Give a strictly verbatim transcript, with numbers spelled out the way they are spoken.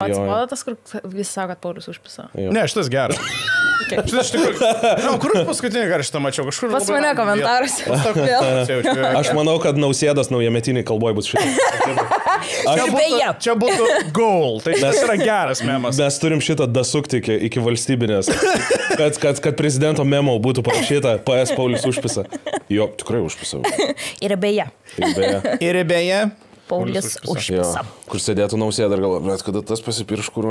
Atsibodo tas, kur visi sako, kad Paulius užpisa. Ne, šitas geras. Okay. Šitas iš tikrųjų. Na, kur paskutinį kartą šitą mačiau? Kažkur. Pas mane komentaruose. Aš manau, kad Nausėdos naujametiniai kalboje bus šitas. Čia būtų, čia būtų goal. Tai tas yra geras memas. Mes turim šitą dasukti iki, iki valstybinės. Kad, kad, kad prezidento memo būtų parašyta P S Paulius užpisa. Jo, tikrai užpisa. Ir beje. Ir beje. Ir beje. Paulius užpisa. Kur sėdėtų Nausėda ir galvoja, bet kada tas pasipirš kur.